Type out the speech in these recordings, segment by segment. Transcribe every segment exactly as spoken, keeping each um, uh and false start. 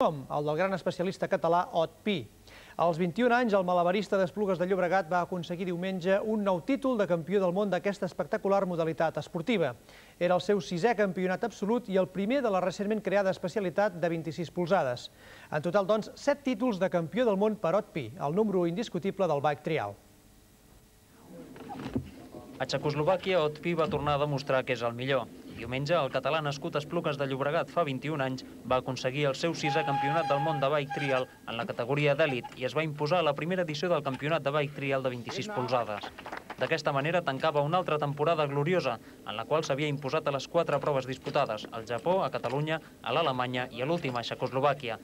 El del gran especialista català Ot Pi. Als vint-i-un anys, el malabarista d'Esplugues de Llobregat va aconseguir diumenge un nou títol de campió del món d'aquesta espectacular modalitat esportiva. Era el seu sisè campionat absolut i el primer de la recentment creada especialitat de vint-i-sis polzades. En total, doncs, set títols de campió del món per Ot Pi, el número indiscutible del bike trial. A Txecoslovàquia, Ot Pi va tornar a demostrar que és el millor. Diumenge, el català nascut a Esplugues de Llobregat fa vint-i-un anys va aconseguir el seu sisè campionat del món de bike trial en la categoria d'elit i es va imposar a la primera edició del campionat de bike trial de vint-i-sis polzades. D'aquesta manera tancava una altra temporada gloriosa, en la qual s'havia imposat a les quatre proves disputades, al Japó, a Catalunya, a l'Alemanya i a l'última a Txecoslovàquia.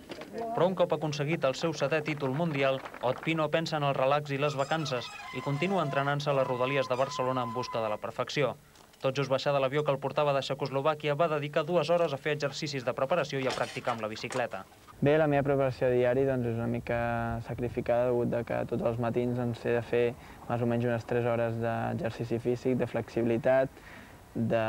Però un cop aconseguit el seu setè títol mundial, Ot Pi no pensa en el relax i les vacances i continua entrenant-se a les rodalies de Barcelona en busca de la perfecció. Tot just baixar de l'avió que el portava de Txecoslovàquia va dedicar dues hores a fer exercicis de preparació i a practicar amb la bicicleta. Bé, la meva preparació diari doncs, és una mica sacrificada degut a que tots els matins doncs, he de fer més o menys unes tres hores d'exercici físic, de flexibilitat de...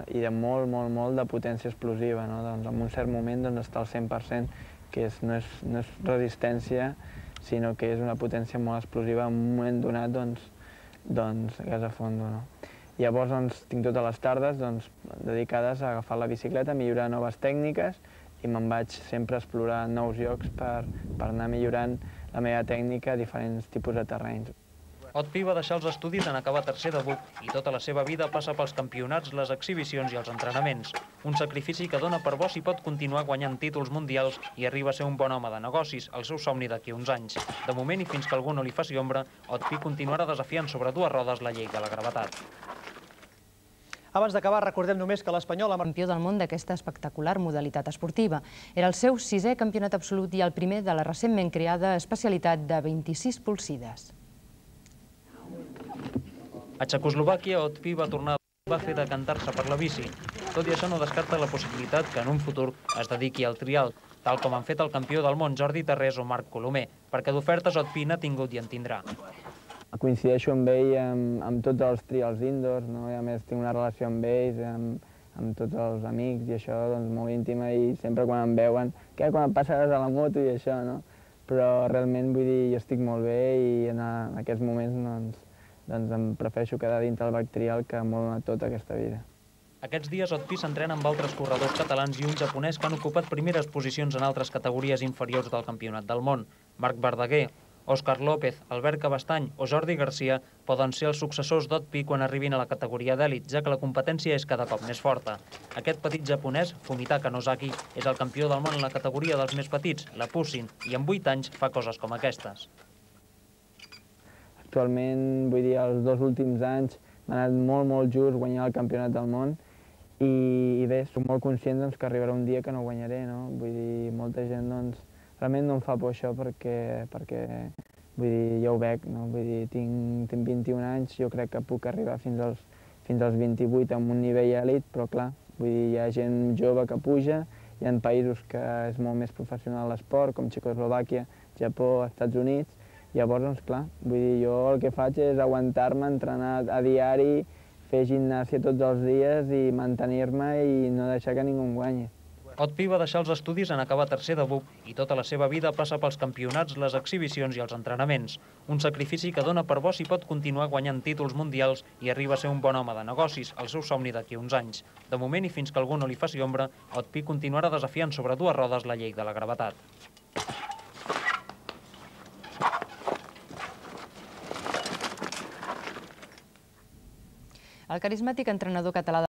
i de molt, molt, molt de potència explosiva. No? Doncs, en un cert moment doncs, està al cent per cent, que és, no, és, no és resistència, sinó que és una potència molt explosiva en un moment donat doncs, doncs, gas a fondo. No? Llavors doncs, tinc totes les tardes doncs, dedicades a agafar la bicicleta, a millorar noves tècniques i me'n vaig sempre a explorar nous llocs per, per anar millorant la meva tècnica a diferents tipus de terrenys. Ot Pi va deixar els estudis en acabar tercer de B U C i tota la seva vida passa pels campionats, les exhibicions i els entrenaments. Un sacrifici que dona per bo si pot continuar guanyant títols mundials i arriba a ser un bon home de negocis, el seu somni d'aquí uns anys. De moment, i fins que algú no li faci ombra, Ot Pi continuarà desafiant sobre dues rodes la llei de la gravetat. Abans d'acabar, recordem només que l'Espanyol... Campió del món d'aquesta espectacular modalitat esportiva. Era el seu sisè campionat absolut i el primer de la recentment creada especialitat de vint-i-sis polsides. A Txecoslovàquia, Ot Pi va tornar va fer decantar-se per la bici. Tot i això no descarta la possibilitat que en un futur es dediqui al trial, tal com han fet el campió del món Jordi Tarrés o Marc Colomer, perquè d'ofertes Ot Pi n'ha tingut i en tindrà. Coincideixo amb ell amb, amb tots els trials indoors, no? I a més tinc una relació amb ells, amb, amb tots els amics i això, doncs, molt íntima, i sempre quan em veuen, què, quan et passaràs a la moto i això, no? Però realment, vull dir, jo estic molt bé i en, en aquests moments doncs, doncs em prefereixo quedar dintre el bike trial que m'ho ha donat tota aquesta vida. Aquests dies Ot Pi s'entrena amb altres corredors catalans i un japonès que han ocupat primeres posicions en altres categories inferiors del campionat del món. Marc Verdaguer, Òscar López, Albert Cabestany o Jordi Garcia poden ser els successors d'Ot Pi quan arribin a la categoria d'èlit, ja que la competència és cada cop més forta. Aquest petit japonès, Fumitaka Nozaki, és el campió del món en la categoria dels més petits, la Pusin, i en vuit anys fa coses com aquestes. Actualment, vull dir, els dos últims anys m'ha anat molt, molt just guanyar el campionat del món i, i bé, soc molt conscient doncs, que arribarà un dia que no guanyaré, no? Vull dir, molta gent doncs, realment no em fa por això perquè, perquè vull dir, ja ho veig, no? Vull dir, tinc, tinc vint-i-un anys, jo crec que puc arribar fins als, fins als vint-i-vuit amb un nivell èlit, però clar, vull dir, hi ha gent jove que puja, hi ha països que és molt més professional l'esport, com Txecoslovàquia, Japó, Estats Units, llavors, doncs clar, vull dir, jo el que faig és aguantar-me, entrenar a diari, fer gimnàsia tots els dies i mantenir-me i no deixar que ningú em guanyi. Ot Pi va deixar els estudis en acabar tercer de B U C i tota la seva vida passa pels campionats, les exhibicions i els entrenaments. Un sacrifici que dona per bo si pot continuar guanyant títols mundials i arriba a ser un bon home de negocis, el seu somni d'aquí uns anys. De moment, i fins que algú no li faci ombra, Ot Pi continuarà desafiant sobre dues rodes la llei de la gravetat. El carismàtic entrenador català